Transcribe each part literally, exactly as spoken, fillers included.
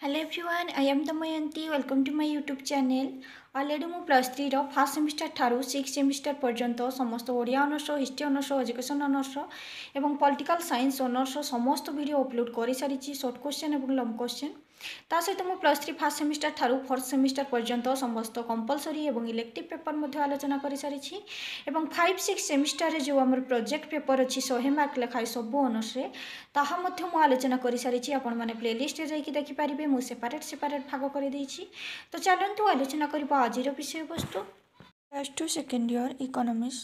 Hello everyone, I am Damayanti. Welcome to my YouTube channel. Already ମୁଁ plus ଥ୍ରୀର first semester ଠାରୁ six semester ପର୍ଯ୍ୟନ୍ତ ସମସ୍ତ Odia honours, history honours, education honours ଏବଂ political science honours ସମସ୍ତ video upload କରିସାରିଛି, short question ଏବଂ long question. ତା ସହିତ ମୁଁ ପ୍ଲସ୍ ଥ୍ରୀ ଫାର୍ଷ୍ଟ ସେମିଷ୍ଟାର ଠାରୁ ଫୋର୍ଥ ସେମିଷ୍ଟାର ପର୍ଯ୍ୟନ୍ତ ସମସ୍ତ କମ୍ପଲସରି ଏବଂ ଇଲେକ୍ଟିଭ୍ ପେପର୍ ମଧ୍ୟ ଆଲୋଚନା କରିସାରିଛି ଏବଂ ଫାଇଭ୍ ସିକ୍ସ ସେମିଷ୍ଟାରରେ ଯେଉଁ ଆମର ପ୍ରୋଜେକ୍ଟ ପେପର୍ ଅଛି, ଶହେ ମାର୍କ ଲେଖାଏଁ ସବୁ ଅନର୍ସରେ, ତାହା ମଧ୍ୟ ମୁଁ ଆଲୋଚନା କରିସାରିଛି। ଆପଣମାନେ ପ୍ଲେଲିଷ୍ଟରେ ଯାଇକି ଦେଖିପାରିବେ, ମୁଁ ସେପାରେଟ୍ ସେପାରେଟ୍ ଭାଗ କରିଦେଇଛି। ତ ଚାଲନ୍ତୁ ଆଲୋଚନା କରିବା ଆଜିର ବିଷୟବସ୍ତୁ। Plus two second year economics.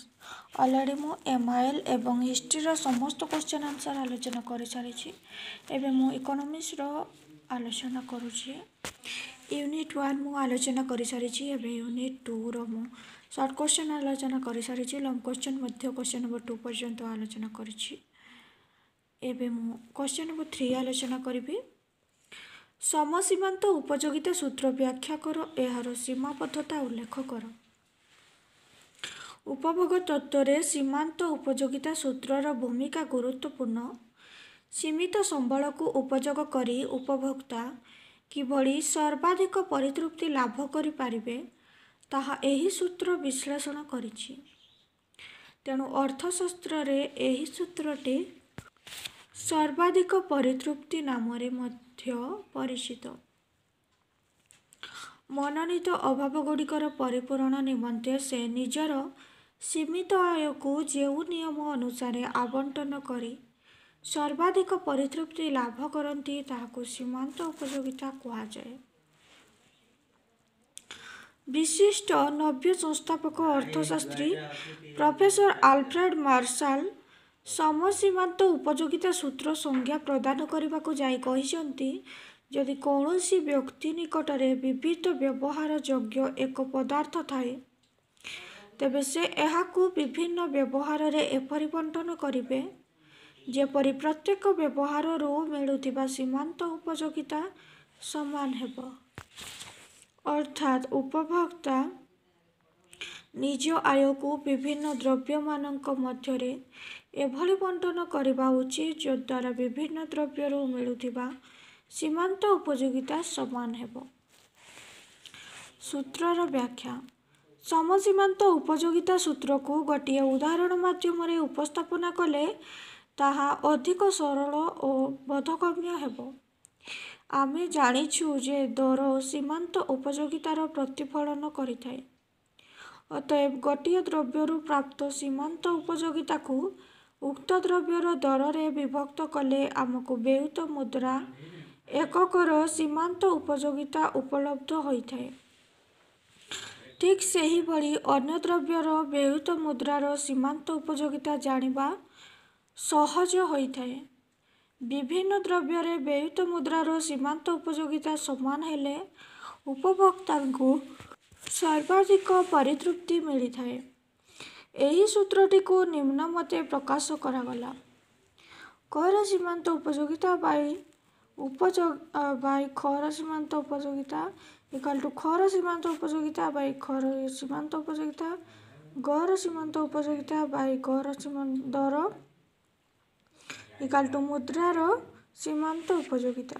Already ମୁଁ ଏମ୍ I L ଏବଂ ହିଷ୍ଟ୍ରିର ସମସ୍ତ କ୍ୱେଶ୍ଚନ୍ ଆନ୍ସର୍ ଆଲୋଚନା କରିସାରିଛି। ଏବେ ମୁଁ ଇକୋନୋମିକ୍ସର ଆଲୋଚନା କରୁଛି। ୟୁନିଟ୍ ୱାନ୍ ମୁଁ ଆଲୋଚନା କରିସାରିଛି। ଏବେ ୟୁନିଟ୍ ଟୁର ମୁଁ ସର୍ଟ କ୍ୱେଶ୍ଚନ୍ ଆଲୋଚନା କରିସାରିଛି, ଲଙ୍ଗ୍ କ୍ୱେଶ୍ଚନ୍ ମଧ୍ୟ କ୍ୱେଶ୍ଚନ୍ ନମ୍ବର ଟୁ ପର୍ଯ୍ୟନ୍ତ ଆଲୋଚନା କରିଛି। ଏବେ ମୁଁ କ୍ୱେଶ୍ଚନ୍ ନମ୍ବର ଥ୍ରୀ ଆଲୋଚନା କରିବି। ସମସୀମାନ୍ତ ଉପଯୋଗିତା ସୂତ୍ର ବ୍ୟାଖ୍ୟା କର, ଏହାର ସୀମାବଦ୍ଧତା ଉଲ୍ଲେଖ କର। ଉପଭୋଗ ତତ୍ତ୍ୱରେ ସୀମାନ୍ତ ଉପଯୋଗିତା ସୂତ୍ରର ଭୂମିକା ଗୁରୁତ୍ୱପୂର୍ଣ୍ଣ। ସୀମିତ ସମ୍ବଳକୁ ଉପଯୋଗ କରି ଉପଭୋକ୍ତା କିଭଳି ସର୍ବାଧିକ ପରିତୃପ୍ତି ଲାଭ କରିପାରିବେ, ତାହା ଏହି ସୂତ୍ର ବିଶ୍ଳେଷଣ କରିଛି। ତେଣୁ ଅର୍ଥଶାସ୍ତ୍ରରେ ଏହି ସୂତ୍ରଟି ସର୍ବାଧିକ ପରିତୃପ୍ତି ନାମରେ ମଧ୍ୟ ପରିଚିତ। ମନୋନୀତ ଅଭାବଗୁଡ଼ିକର ପରିପୂରଣ ନିମନ୍ତେ ସେ ନିଜର ସୀମିତ ଆୟକୁ ଯେଉଁ ନିୟମ ଅନୁସାରେ ଆବଣ୍ଟନ କରି ସର୍ବାଧିକ ପରିତୃପ୍ତି ଲାଭ କରନ୍ତି, ତାହାକୁ ସୀମାନ୍ତ ଉପଯୋଗିତା କୁହାଯାଏ। ବିଶିଷ୍ଟ ନବ୍ୟ ସଂସ୍ଥାପକ ଅର୍ଥଶାସ୍ତ୍ରୀ ପ୍ରଫେସର ଆଲଫ୍ରେଡ୍ ମାର୍ଶାଲ ସମସୀମାନ୍ତ ଉପଯୋଗିତା ସୂତ୍ର ସଂଜ୍ଞା ପ୍ରଦାନ କରିବାକୁ ଯାଇ କହିଛନ୍ତି, ଯଦି କୌଣସି ବ୍ୟକ୍ତି ନିକଟରେ ବିବିଧ ବ୍ୟବହାର ଯୋଗ୍ୟ ଏକ ପଦାର୍ଥ ଥାଏ, ତେବେ ସେ ଏହାକୁ ବିଭିନ୍ନ ବ୍ୟବହାରରେ ଏପରି ବଣ୍ଟନ କରିବେ ଯେପରି ପ୍ରତ୍ୟେକ ବ୍ୟବହାରରୁ ମିଳୁଥିବା ସୀମାନ୍ତ ଉପଯୋଗିତା ସମାନ ହେବ। ଅର୍ଥାତ୍ ଉପଭୋକ୍ତା ନିଜ ଆୟକୁ ବିଭିନ୍ନ ଦ୍ରବ୍ୟମାନଙ୍କ ମଧ୍ୟରେ ଏଭଳି ବଣ୍ଟନ କରିବା ଉଚିତ, ଯଦ୍ୱାରା ବିଭିନ୍ନ ଦ୍ରବ୍ୟରୁ ମିଳୁଥିବା ସୀମାନ୍ତ ଉପଯୋଗିତା ସମାନ ହେବ। ସୂତ୍ରର ବ୍ୟାଖ୍ୟା। ସମସୀମାନ୍ତ ଉପଯୋଗିତା ସୂତ୍ରକୁ ଗୋଟିଏ ଉଦାହରଣ ମାଧ୍ୟମରେ ଉପସ୍ଥାପନା କଲେ ତାହା ଅଧିକ ସରଳ ଓ ବୋଧଗମ୍ୟ ହେବ। ଆମେ ଜାଣିଛୁ ଯେ ଦର ସୀମାନ୍ତ ଉପଯୋଗିତାର ପ୍ରତିଫଳନ କରିଥାଏ। ଅତଏବ ଗୋଟିଏ ଦ୍ରବ୍ୟରୁ ପ୍ରାପ୍ତ ସୀମାନ୍ତ ଉପଯୋଗିତାକୁ ଉକ୍ତ ଦ୍ରବ୍ୟର ଦରରେ ବିଭକ୍ତ କଲେ ଆମକୁ ବ୍ୟୟିତ ମୁଦ୍ରା ଏକକର ସୀମାନ୍ତ ଉପଯୋଗିତା ଉପଲବ୍ଧ ହୋଇଥାଏ। ଠିକ୍ ସେହିଭଳି ଅନ୍ୟ ଦ୍ରବ୍ୟର ବ୍ୟୟିତ ମୁଦ୍ରାର ସୀମାନ୍ତ ଉପଯୋଗିତା ଜାଣିବା ସହଜ ହୋଇଥାଏ। ବିଭିନ୍ନ ଦ୍ରବ୍ୟରେ ବ୍ୟୟିତ ମୁଦ୍ରାର ସୀମାନ୍ତ ଉପଯୋଗିତା ସମାନ ହେଲେ ଉପଭୋକ୍ତାଙ୍କୁ ସର୍ବାଧିକ ପରିତୃପ୍ତି ମିଳିଥାଏ। ଏହି ସୂତ୍ରଟିକୁ ନିମ୍ନମତେ ପ୍ରକାଶ କରାଗଲା: କର ସୀମାନ୍ତ ଉପଯୋଗିତା ବାଇ ଉପଯୋଗ ବାଇ ଖର ସୀମାନ୍ତ ଉପଯୋଗିତା ଇକାଲ୍ ଟୁ ଖର ସୀମାନ୍ତ ଉପଯୋଗିତା ବାଇ ଖର ସୀମାନ୍ତ ଉପଯୋଗିତା ଗର ସୀମାନ୍ତ ଉପଯୋଗିତା ବାଇ ଗର ସୀମାନ୍ତ ଦର ଇକାଲ୍ ଟୁ ମୁଦ୍ରାର ସୀମାନ୍ତ ଉପଯୋଗିତା।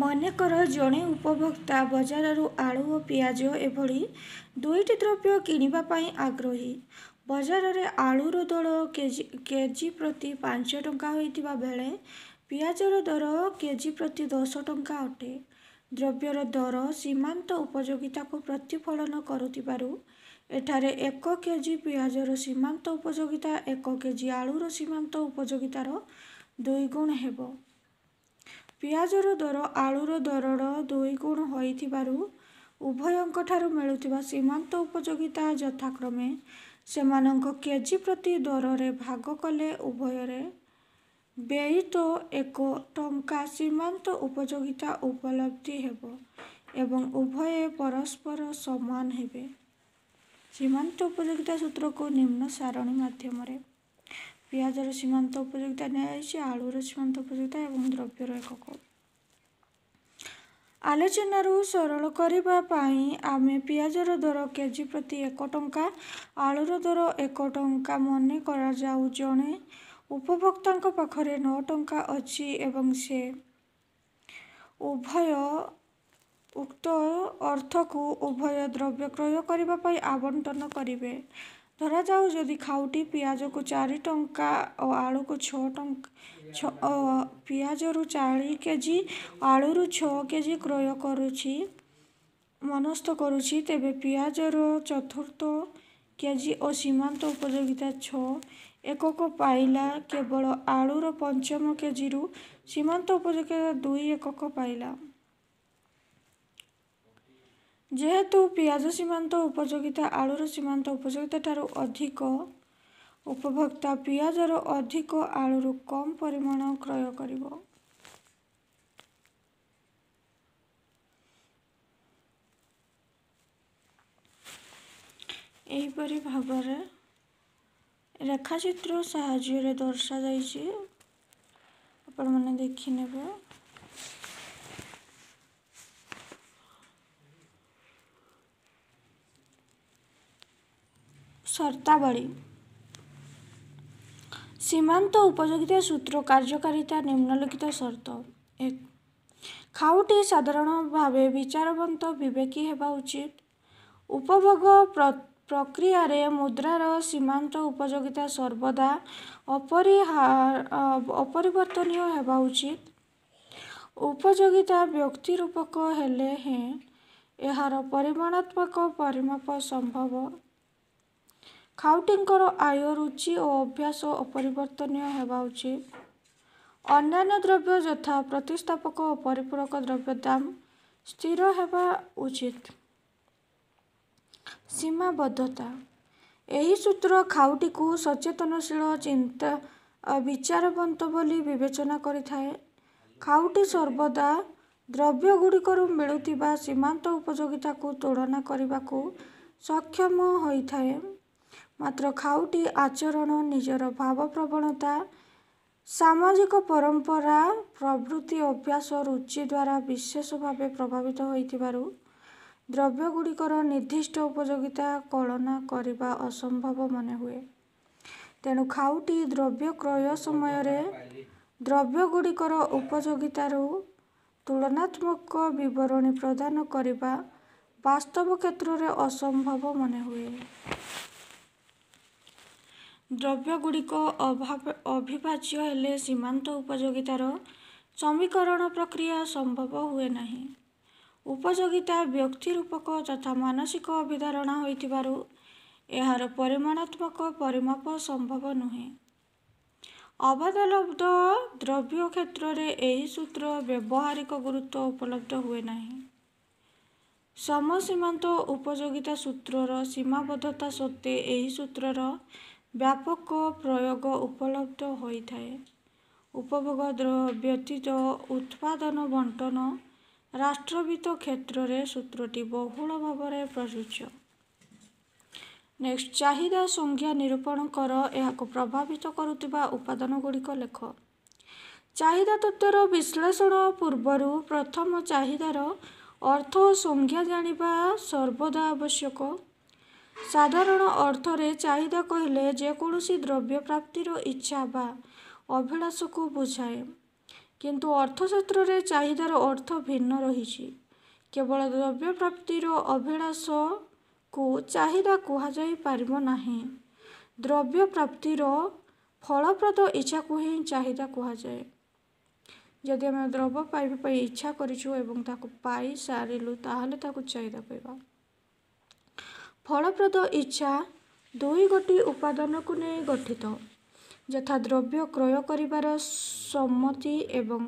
ମନେକର ଜଣେ ଉପଭୋକ୍ତା ବଜାରରୁ ଆଳୁ ଓ ପିଆଜ ଏଭଳି ଦୁଇଟି ଦ୍ରବ୍ୟ କିଣିବା ପାଇଁ ଆଗ୍ରହୀ। ବଜାରରେ ଆଳୁର ଦର କେଜି କେଜି ପ୍ରତି ପାଞ୍ଚ ଟଙ୍କା ହୋଇଥିବା ବେଳେ ପିଆଜର ଦର କେଜି ପ୍ରତି ଦଶ ଟଙ୍କା ଅଟେ। ଦ୍ରବ୍ୟର ଦର ସୀମାନ୍ତ ଉପଯୋଗିତାକୁ ପ୍ରତିଫଳନ କରୁଥିବାରୁ ଏଠାରେ ଏକ କେଜି ପିଆଜର ସୀମାନ୍ତ ଉପଯୋଗିତା ଏକ କେଜି ଆଳୁର ସୀମାନ୍ତ ଉପଯୋଗିତାର ଦୁଇଗୁଣ ହେବ। ପିଆଜର ଦର ଆଳୁର ଦରର ଦୁଇଗୁଣ ହୋଇଥିବାରୁ ଉଭୟଙ୍କଠାରୁ ମିଳୁଥିବା ସୀମାନ୍ତ ଉପଯୋଗିତା ଯଥାକ୍ରମେ ସେମାନଙ୍କ କେଜି ପ୍ରତି ଦରରେ ଭାଗ କଲେ ଉଭୟରେ ବ୍ୟୟିତ ଏକ ଟଙ୍କା ସୀମାନ୍ତ ଉପଯୋଗିତା ଉପଲବ୍ଧି ହେବ ଏବଂ ଉଭୟେ ପରସ୍ପର ସମାନ ହେବେ। ସୀମାନ୍ତ ଉପଯୋଗିତା ସୂତ୍ରକୁ ନିମ୍ନ ସାରଣୀ ମାଧ୍ୟମରେ ପିଆଜର ସୀମାନ୍ତ ଉପଯୋଗିତା ନିଆଯାଇଛି, ଆଳୁର ସୀମାନ୍ତ ଉପଯୋଗିତା ଏବଂ ଦ୍ରବ୍ୟର ଏକକ। ଆଲୋଚନାରୁ ସରଳ କରିବା ପାଇଁ ଆମେ ପିଆଜର ଦର କେଜି ପ୍ରତି ଏକ ଟଙ୍କା, ଆଳୁର ଦର ଏକ ଟଙ୍କା ମନେ କରାଯାଉ। ଜଣେ ଉପଭୋକ୍ତାଙ୍କ ପାଖରେ ନଅ ଟଙ୍କା ଅଛି ଏବଂ ସେ ଉଭୟ ଉକ୍ତ ଅର୍ଥକୁ ଉଭୟ ଦ୍ରବ୍ୟ କ୍ରୟ କରିବା ପାଇଁ ଆବଣ୍ଟନ କରିବେ। ଧରାଯାଉ, ଯଦି ଖାଉଟି ପିଆଜକୁ ଚାରି ଟଙ୍କା ଓ ଆଳୁକୁ ଛଅ ଟଙ୍କା ପିଆଜରୁ ଚାରି କେଜି ଆଳୁରୁ ଛଅ କେଜି କ୍ରୟ କରୁଛି ମନସ୍ଥ କରୁଛି, ତେବେ ପିଆଜର ଚତୁର୍ଥ କେଜି ଓ ସୀମାନ୍ତ ଉପଯୋଗିତା ଛଅ ଏକକ ପାଇଲା, କେବଳ ଆଳୁର ପଞ୍ଚମ କେଜିରୁ ସୀମାନ୍ତ ଉପଯୋଗିତା ଦୁଇ ଏକକ ପାଇଲା। ଯେହେତୁ ପିଆଜ ସୀମାନ୍ତ ଉପଯୋଗିତା ଆଳୁର ସୀମାନ୍ତ ଉପଯୋଗିତା ଠାରୁ ଅଧିକ, ଉପଭୋକ୍ତା ପିଆଜର ଅଧିକ ଆଳୁରୁ କମ୍ ପରିମାଣ କ୍ରୟ କରିବ। ଏହିପରି ଭାବରେ ରେଖାଚିତ୍ର ସାହାଯ୍ୟରେ ଦର୍ଶାଯାଇଛି, ଆପଣମାନେ ଦେଖିନେବେ। ସର୍ତ୍ତାବଳୀ। ସୀମାନ୍ତ ଉପଯୋଗିତା ସୂତ୍ର କାର୍ଯ୍ୟକାରିତା ନିମ୍ନଲିଖିତ ସର୍ତ୍ତ। ଏକ, ଖାଉଟି ସାଧାରଣ ଭାବେ ବିଚାରବନ୍ତ ବିବେକୀ ହେବା ଉଚିତ। ଉପଭୋଗ ପ୍ରକ୍ରିୟାରେ ମୁଦ୍ରାର ସୀମାନ୍ତ ଉପଯୋଗିତା ସର୍ବଦା ଅପରିବର୍ତ୍ତନୀୟ ହେବା ଉଚିତ। ଉପଯୋଗିତା ବ୍ୟକ୍ତିରୂପକ ହେଲେ ହେଁ ଏହାର ପରିମାଣାତ୍ମକ ପରିମାପ ସମ୍ଭବ। ଖାଉଟିଙ୍କର ଆୟ, ରୁଚି ଓ ଅଭ୍ୟାସ ଅପରିବର୍ତ୍ତନୀୟ ହେବା ଉଚିତ। ଅନ୍ୟାନ୍ୟ ଦ୍ରବ୍ୟ ଯଥା ପ୍ରତିସ୍ଥାପକ ଓ ପରିପୂରକ ଦ୍ରବ୍ୟ ଦାମ ସ୍ଥିର ହେବା ଉଚିତ। ସୀମାବଦ୍ଧତା। ଏହି ସୂତ୍ର ଖାଉଟିକୁ ସଚେତନଶୀଳ, ଚିନ୍ତା ବିଚାରବନ୍ତ ବୋଲି ବିବେଚନା କରିଥାଏ। ଖାଉଟି ସର୍ବଦା ଦ୍ରବ୍ୟଗୁଡ଼ିକରୁ ମିଳୁଥିବା ସୀମାନ୍ତ ଉପଯୋଗିତାକୁ ତୁଳନା କରିବାକୁ ସକ୍ଷମ ହୋଇଥାଏ। ମାତ୍ର ଖାଉଟି ଆଚରଣ ନିଜର ଭାବପ୍ରବଣତା, ସାମାଜିକ ପରମ୍ପରା, ପ୍ରଭୃତି ଅଭ୍ୟାସ ରୁଚି ଦ୍ୱାରା ବିଶେଷ ଭାବେ ପ୍ରଭାବିତ ହୋଇଥିବାରୁ ଦ୍ରବ୍ୟଗୁଡ଼ିକର ନିର୍ଦ୍ଦିଷ୍ଟ ଉପଯୋଗିତା କଳନା କରିବା ଅସମ୍ଭବ ମନେହୁଏ। ତେଣୁ ଖାଉଟି ଦ୍ରବ୍ୟ କ୍ରୟ ସମୟରେ ଦ୍ରବ୍ୟଗୁଡ଼ିକର ଉପଯୋଗିତାର ତୁଳନାତ୍ମକ ବିବରଣୀ ପ୍ରଦାନ କରିବା ବାସ୍ତବ କ୍ଷେତ୍ରରେ ଅସମ୍ଭବ ମନେହୁଏ। ଦ୍ରବ୍ୟଗୁଡ଼ିକ ଅବିଭାଜ୍ୟ ହେଲେ ସୀମାନ୍ତ ଉପଯୋଗିତାର ସମୀକରଣ ପ୍ରକ୍ରିୟା ସମ୍ଭବ ହୁଏ ନାହିଁ। ଉପଯୋଗିତା ବ୍ୟକ୍ତିରୂପକ ତଥା ମାନସିକ ଅଭିଧାରଣା ହୋଇଥିବାରୁ ଏହାର ପରିମାଣାତ୍ମକ ପରିମାପ ସମ୍ଭବ ନୁହେଁ। ଅବାଧଲବ୍ଧ ଦ୍ରବ୍ୟ କ୍ଷେତ୍ରରେ ଏହି ସୂତ୍ର ବ୍ୟବହାରିକ ଗୁରୁତ୍ୱ ଉପଲବ୍ଧ ହୁଏ ନାହିଁ। ସମସୀମାନ୍ତ ଉପଯୋଗିତା ସୂତ୍ରର ସୀମାବଦ୍ଧତା ସତ୍ତ୍ୱେ ଏହି ସୂତ୍ରର ବ୍ୟାପକ ପ୍ରୟୋଗ ଉପଲବ୍ଧ ହୋଇଥାଏ। ଉପଭୋଗ ବ୍ୟତୀତ ଉତ୍ପାଦନ, ବଣ୍ଟନ, ରାଷ୍ଟ୍ରବିତ୍ତ କ୍ଷେତ୍ରରେ ସୂତ୍ରଟି ବହୁଳ ଭାବରେ ପ୍ରଯୁଜ୍ୟ। ନେକ୍ସଟ, ଚାହିଦା ସଂଜ୍ଞା ନିରୂପଣ କର। ଏହାକୁ ପ୍ରଭାବିତ କରୁଥିବା ଉପାଦାନଗୁଡ଼ିକ ଲେଖ। ଚାହିଦା ତତ୍ତ୍ୱର ବିଶ୍ଳେଷଣ ପୂର୍ବରୁ ପ୍ରଥମ ଚାହିଦାର ଅର୍ଥ ଓ ସଂଜ୍ଞା ଜାଣିବା ସର୍ବଦା ଆବଶ୍ୟକ। ସାଧାରଣ ଅର୍ଥରେ ଚାହିଦା କହିଲେ ଯେକୌଣସି ଦ୍ରବ୍ୟ ପ୍ରାପ୍ତିର ଇଚ୍ଛା ବା ଅଭିଳାଷକୁ ବୁଝାଏ। କିନ୍ତୁ ଅର୍ଥଶାସ୍ତ୍ରରେ ଚାହିଦାର ଅର୍ଥ ଭିନ୍ନ ରହିଛି। କେବଳ ଦ୍ରବ୍ୟ ପ୍ରାପ୍ତିର ଅଭିଳାଷକୁ ଚାହିଦା କୁହାଯାଇ ପାରିବ ନାହିଁ। ଦ୍ରବ୍ୟ ପ୍ରାପ୍ତିର ଫଳପ୍ରଦ ଇଚ୍ଛାକୁ ହିଁ ଚାହିଦା କୁହାଯାଏ। ଯଦି ଆମେ ଦ୍ରବ୍ୟ ପାଇବା ପାଇଁ ଇଚ୍ଛା କରିଛୁ ଏବଂ ତାକୁ ପାଇସାରିଲୁ, ତାହେଲେ ତାକୁ ଚାହିଦା କହିବା। ଫଳପ୍ରଦ ଇଚ୍ଛା ଦୁଇ ଗୋଟି ଉପାଦାନକୁ ନେଇ ଗଠିତ, ଯଥା ଦ୍ରବ୍ୟ କ୍ରୟ କରିବାର ସମ୍ମତି ଏବଂ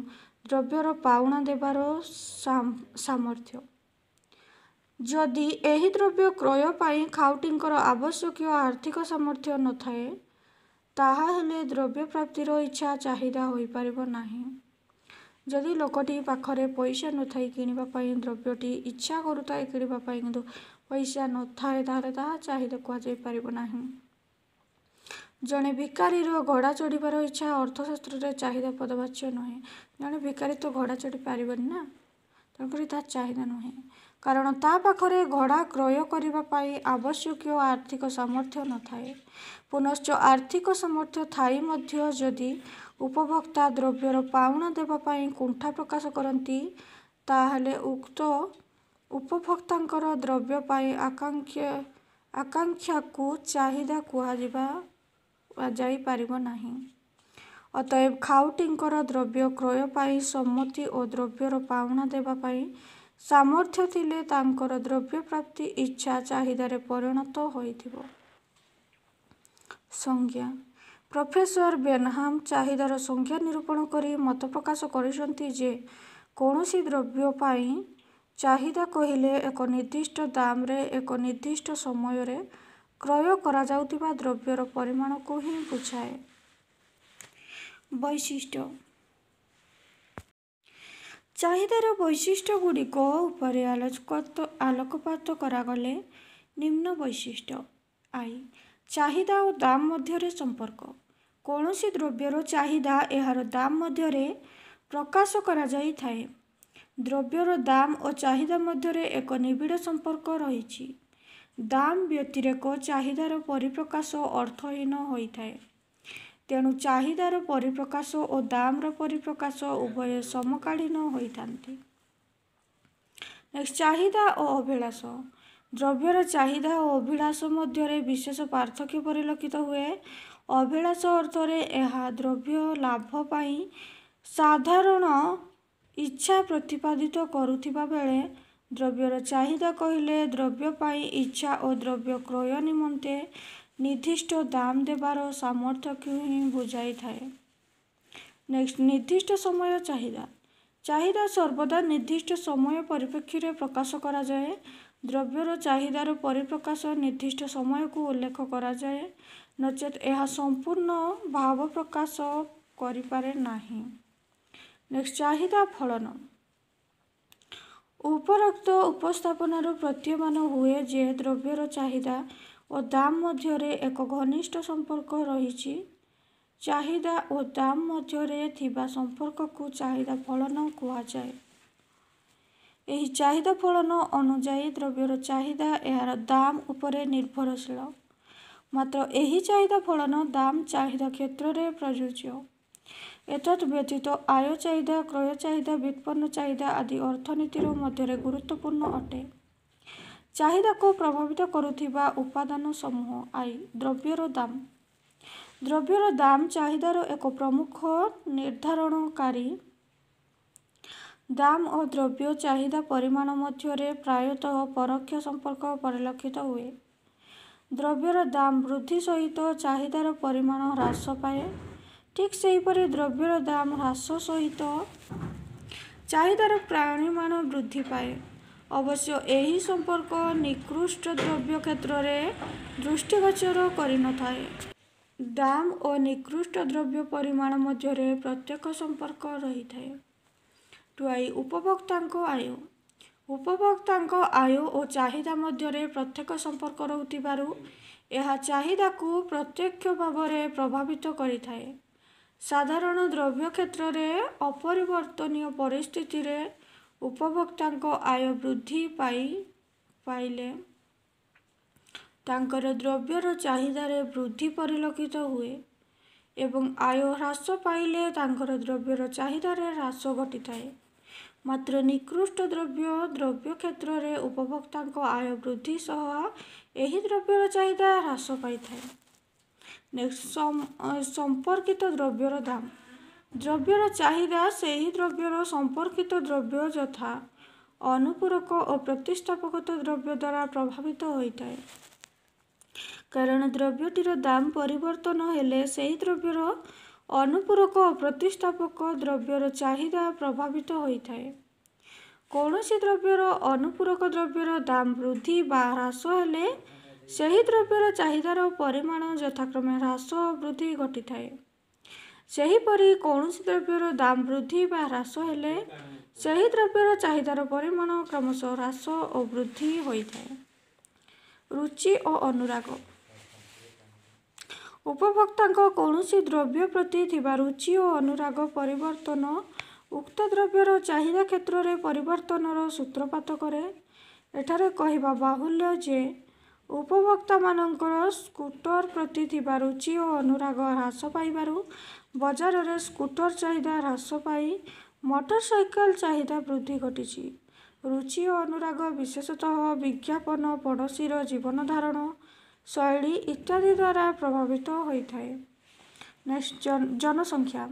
ଦ୍ରବ୍ୟର ପାଉଣା ଦେବାର ସାମର୍ଥ୍ୟ। ଯଦି ଏହି ଦ୍ରବ୍ୟ କ୍ରୟ ପାଇଁ ଖାଉଟିଙ୍କର ଆବଶ୍ୟକୀୟ ଆର୍ଥିକ ସାମର୍ଥ୍ୟ ନଥାଏ, ତାହାହେଲେ ଦ୍ରବ୍ୟ ପ୍ରାପ୍ତିର ଇଚ୍ଛା ଚାହିଦା ହୋଇପାରିବ ନାହିଁ। ଯଦି ଲୋକଟି ପାଖରେ ପଇସା ନଥାଇ କିଣିବା ପାଇଁ ଦ୍ରବ୍ୟଟି ଇଚ୍ଛା କରୁଥାଏ କିଣିବା ପାଇଁ, କିନ୍ତୁ ପଇସା ନଥାଏ, ତାହେଲେ ତାହା ଚାହିଦା କୁହାଯାଇପାରିବ ନାହିଁ। ଜଣେ ଭିକାରୀର ଘୋଡ଼ା ଚଢ଼ିବାର ଇଚ୍ଛା ଅର୍ଥଶାସ୍ତ୍ରରେ ଚାହିଦା ପଦବାଚ୍ୟ ନୁହେଁ। ଜଣେ ଭିକାରୀ ତ ଘୋଡ଼ା ଚଢ଼ି ପାରିବନି ନା, ତେଣୁକରି ତାହା ଚାହିଦା ନୁହେଁ, କାରଣ ତା ପାଖରେ ଘୋଡ଼ା କ୍ରୟ କରିବା ପାଇଁ ଆବଶ୍ୟକୀୟ ଆର୍ଥିକ ସାମର୍ଥ୍ୟ ନଥାଏ। ପୁନଶ୍ଚ ଆର୍ଥିକ ସାମର୍ଥ୍ୟ ଥାଇ ମଧ୍ୟ ଯଦି ଉପଭୋକ୍ତା ଦ୍ରବ୍ୟର ପାଉଣା ଦେବା ପାଇଁ କୁଣ୍ଠା ପ୍ରକାଶ କରନ୍ତି, ତାହେଲେ ଉକ୍ତ ଉପଭୋକ୍ତାଙ୍କର ଦ୍ରବ୍ୟ ପାଇଁ ଆକାଂକ୍ଷା ଆକାଂକ୍ଷାକୁ ଚାହିଦା କୁହାଯିବା ଯାଇପାରିବ ନାହିଁ। ଅତଏବ ଖାଉଟିଙ୍କର ଦ୍ରବ୍ୟ କ୍ରୟ ପାଇଁ ସମ୍ମତି ଓ ଦ୍ରବ୍ୟର ପାଉଣା ଦେବା ପାଇଁ ସାମର୍ଥ୍ୟ ଥିଲେ ତାଙ୍କର ଦ୍ରବ୍ୟପ୍ରାପ୍ତି ଇଚ୍ଛା ଚାହିଦାରେ ପରିଣତ ହୋଇଥିବ। ସଂଜ୍ଞା। ପ୍ରଫେସର ବେନହାମ ଚାହିଦାର ସଂଜ୍ଞା ନିରୂପଣ କରି ମତ ପ୍ରକାଶ କରିଛନ୍ତି ଯେ, କୌଣସି ଦ୍ରବ୍ୟ ପାଇଁ ଚାହିଦା କହିଲେ ଏକ ନିର୍ଦ୍ଦିଷ୍ଟ ଦାମରେ ଏକ ନିର୍ଦ୍ଦିଷ୍ଟ ସମୟରେ କ୍ରୟ କରାଯାଉଥିବା ଦ୍ରବ୍ୟର ପରିମାଣକୁ ହିଁ ବୁଝାଏ। ବୈଶିଷ୍ଟ୍ୟ। ଚାହିଦାର ବୈଶିଷ୍ଟ୍ୟଗୁଡ଼ିକ ଉପରେ ଆଲୋକପାତ କରାଗଲେ ନିମ୍ନ ବୈଶିଷ୍ଟ୍ୟ। I ଚାହିଦା ଓ ଦାମ ମଧ୍ୟରେ ସମ୍ପର୍କ। କୌଣସି ଦ୍ରବ୍ୟର ଚାହିଦା ଏହାର ଦାମ ମଧ୍ୟରେ ପ୍ରକାଶ କରାଯାଇଥାଏ। ଦ୍ରବ୍ୟର ଦାମ ଓ ଚାହିଦା ମଧ୍ୟରେ ଏକ ନିବିଡ଼ ସମ୍ପର୍କ ରହିଛି। ଦାମ ବ୍ୟତିରେକ ଚାହିଦାର ପରିପ୍ରକାଶ ଅର୍ଥହୀନ ହୋଇଥାଏ। ତେଣୁ ଚାହିଦାର ପରିପ୍ରକାଶ ଓ ଦାମର ପରିପ୍ରକାଶ ଉଭୟ ସମକାଳୀନ ହୋଇଥାନ୍ତି। ନେକ୍ସଟ, ଚାହିଦା ଓ ଅଭିଳାଷ। ଦ୍ରବ୍ୟର ଚାହିଦା ଓ ଅଭିଳାଷ ମଧ୍ୟରେ ବିଶେଷ ପାର୍ଥକ୍ୟ ପରିଲକ୍ଷିତ ହୁଏ। ଅଭିଳାଷ ଅର୍ଥରେ ଏହା ଦ୍ରବ୍ୟ ଲାଭ ପାଇଁ ସାଧାରଣ ଇଚ୍ଛା ପ୍ରତିପାଦିତ କରୁଥିବା ବେଳେ ଦ୍ରବ୍ୟର ଚାହିଦା କହିଲେ ଦ୍ରବ୍ୟ ପାଇଁ ଇଚ୍ଛା ଓ ଦ୍ରବ୍ୟ କ୍ରୟ ନିମନ୍ତେ ନିର୍ଦ୍ଦିଷ୍ଟ ଦାମ ଦେବାର ସାମର୍ଥ୍ୟକୁ ହିଁ ବୁଝାଇଥାଏ। ନେକ୍ସଟ, ନିର୍ଦ୍ଦିଷ୍ଟ ସମୟ ଚାହିଦା। ଚାହିଦା ସର୍ବଦା ନିର୍ଦ୍ଦିଷ୍ଟ ସମୟ ପରିପ୍ରେକ୍ଷୀରେ ପ୍ରକାଶ କରାଯାଏ। ଦ୍ରବ୍ୟର ଚାହିଦାର ପରିପ୍ରକାଶ ନିର୍ଦ୍ଦିଷ୍ଟ ସମୟକୁ ଉଲ୍ଲେଖ କରାଯାଏ, ନଚେତ୍ ଏହା ସମ୍ପୂର୍ଣ୍ଣ ଭାବ ପ୍ରକାଶ କରିପାରେ ନାହିଁ। ନେକ୍ସଟ, ଚାହିଦା ଫଳନ। ଉପରୋକ୍ତ ଉପସ୍ଥାପନାରୁ ପ୍ରତୀୟମାନ ହୁଏ ଯେ ଦ୍ରବ୍ୟର ଚାହିଦା ଓ ଦାମ ମଧ୍ୟରେ ଏକ ଘନିଷ୍ଠ ସମ୍ପର୍କ ରହିଛି। ଚାହିଦା ଓ ଦାମ ମଧ୍ୟରେ ଥିବା ସମ୍ପର୍କକୁ ଚାହିଦା ଫଳନ କୁହାଯାଏ। ଏହି ଚାହିଦା ଫଳନ ଅନୁଯାୟୀ ଦ୍ରବ୍ୟର ଚାହିଦା ଏହାର ଦାମ ଉପରେ ନିର୍ଭରଶୀଳ। ମାତ୍ର ଏହି ଚାହିଦା ଫଳନ ଦାମ ଚାହିଦା କ୍ଷେତ୍ରରେ ପ୍ରଯୁଜ୍ୟ। ଏତଦ୍ ବ୍ୟତୀତ ଆୟ ଚାହିଦା, କ୍ରୟ ଚାହିଦା, ବ୍ୟୁତ୍ପନ୍ନ ଚାହିଦା ଆଦି ଅର୍ଥନୀତିର ମଧ୍ୟରେ ଗୁରୁତ୍ୱପୂର୍ଣ୍ଣ ଅଟେ। ଚାହିଦାକୁ ପ୍ରଭାବିତ କରୁଥିବା ଉପାଦାନ ସମୂହ। I ଦ୍ରବ୍ୟର ଦାମ। ଦ୍ରବ୍ୟର ଦାମ ଚାହିଦାର ଏକ ପ୍ରମୁଖ ନିର୍ଦ୍ଧାରଣକାରୀ। ଦାମ ଓ ଦ୍ରବ୍ୟ ଚାହିଦା ପରିମାଣ ମଧ୍ୟରେ ପ୍ରାୟତଃ ପରୋକ୍ଷ ସମ୍ପର୍କ ପରିଲକ୍ଷିତ ହୁଏ। ଦ୍ରବ୍ୟର ଦାମ ବୃଦ୍ଧି ସହିତ ଚାହିଦାର ପରିମାଣ ହ୍ରାସ ପାଏ। ଠିକ୍ ସେହିପରି ଦ୍ରବ୍ୟର ଦାମ ହ୍ରାସ ସହିତ ଚାହିଦାର ପରିମାଣ ବୃଦ୍ଧି ପାଏ। ଅବଶ୍ୟ ଏହି ସମ୍ପର୍କ ନିକୃଷ୍ଟ ଦ୍ରବ୍ୟ କ୍ଷେତ୍ରରେ ଦୃଷ୍ଟିଗୋଚର କରିନଥାଏ। ଦାମ ଓ ନିକୃଷ୍ଟ ଦ୍ରବ୍ୟ ପରିମାଣ ମଧ୍ୟରେ ପ୍ରତ୍ୟକ୍ଷ ସମ୍ପର୍କ ରହିଥାଏ। ଟୁ I ଉପଭୋକ୍ତାଙ୍କ ଆୟ। ଉପଭୋକ୍ତାଙ୍କ ଆୟ ଓ ଚାହିଦା ମଧ୍ୟରେ ପ୍ରତ୍ୟକ୍ଷ ସମ୍ପର୍କ ରହୁଥିବାରୁ ଏହା ଚାହିଦାକୁ ପ୍ରତ୍ୟକ୍ଷ ଭାବରେ ପ୍ରଭାବିତ କରିଥାଏ। ସାଧାରଣ ଦ୍ରବ୍ୟ କ୍ଷେତ୍ରରେ ଅପରିବର୍ତ୍ତନୀୟ ପରିସ୍ଥିତିରେ ଉପଭୋକ୍ତାଙ୍କ ଆୟ ବୃଦ୍ଧି ପାଇ ପାଇଲେ ତାଙ୍କର ଦ୍ରବ୍ୟର ଚାହିଦାରେ ବୃଦ୍ଧି ପରିଲକ୍ଷିତ ହୁଏ ଏବଂ ଆୟ ହ୍ରାସ ପାଇଲେ ତାଙ୍କର ଦ୍ରବ୍ୟର ଚାହିଦାରେ ହ୍ରାସ ଘଟିଥାଏ। ମାତ୍ର ନିକୃଷ୍ଟ ଦ୍ରବ୍ୟ ଦ୍ରବ୍ୟ କ୍ଷେତ୍ରରେ ଉପଭୋକ୍ତାଙ୍କ ଆୟ ବୃଦ୍ଧି ସହ ଏହି ଦ୍ରବ୍ୟର ଚାହିଦା ହ୍ରାସ ପାଇଥାଏ। ନେକ୍ସଟ, ସମ୍ପର୍କିତ ଦ୍ରବ୍ୟର ଦାମ। ଦ୍ରବ୍ୟର ଚାହିଦା ସେହି ଦ୍ରବ୍ୟର ସମ୍ପର୍କିତ ଦ୍ରବ୍ୟ ଯଥା ଅନୁପୂରକ ଓ ପ୍ରତିସ୍ଥାପକ ଦ୍ରବ୍ୟ ଦ୍ୱାରା ପ୍ରଭାବିତ ହୋଇଥାଏ। କାରଣ ଦ୍ରବ୍ୟଟିର ଦାମ ପରିବର୍ତ୍ତନ ହେଲେ ସେହି ଦ୍ରବ୍ୟର ଅନୁପୂରକ ଓ ପ୍ରତିସ୍ଥାପକ ଦ୍ରବ୍ୟର ଚାହିଦା ପ୍ରଭାବିତ ହୋଇଥାଏ। କୌଣସି ଦ୍ରବ୍ୟର ଅନୁପୂରକ ଦ୍ରବ୍ୟର ଦାମ ବୃଦ୍ଧି ବା ହ୍ରାସ ହେଲେ ସେହି ଦ୍ରବ୍ୟର ଚାହିଦାର ପରିମାଣ ଯଥାକ୍ରମେ ହ୍ରାସ ଓ ବୃଦ୍ଧି ଘଟିଥାଏ। ସେହିପରି କୌଣସି ଦ୍ରବ୍ୟର ଦାମ ବୃଦ୍ଧି ବା ହ୍ରାସ ହେଲେ ସେହି ଦ୍ରବ୍ୟର ଚାହିଦାର ପରିମାଣ କ୍ରମଶଃ ହ୍ରାସ ଓ ବୃଦ୍ଧି ହୋଇଥାଏ। ରୁଚି ଓ ଅନୁରାଗ। ଉପଭୋକ୍ତାଙ୍କ କୌଣସି ଦ୍ରବ୍ୟ ପ୍ରତି ଥିବା ରୁଚି ଓ ଅନୁରାଗ ପରିବର୍ତ୍ତନ ଉକ୍ତ ଦ୍ରବ୍ୟର ଚାହିଦା କ୍ଷେତ୍ରରେ ପରିବର୍ତ୍ତନର ସୂତ୍ରପାତ କରେ। ଏଠାରେ କହିବା ବାହୁଲ୍ୟ ଯେ ଉପଭୋକ୍ତାମାନଙ୍କର ସ୍କୁଟର ପ୍ରତି ଥିବା ରୁଚି ଓ ଅନୁରାଗ ହ୍ରାସ ପାଇବାରୁ ବଜାରରେ ସ୍କୁଟର ଚାହିଦା ହ୍ରାସ ପାଇ ମୋଟରସାଇକେଲ ଚାହିଦା ବୃଦ୍ଧି ଘଟିଛି। ରୁଚି ଓ ଅନୁରାଗ ବିଶେଷତଃ ବିଜ୍ଞାପନ, ପଡ଼ୋଶୀର ଜୀବନଧାରଣ ଶୈଳୀ ଇତ୍ୟାଦି ଦ୍ୱାରା ପ୍ରଭାବିତ ହୋଇଥାଏ। ନେକ୍ସଟ, ଜନସଂଖ୍ୟା।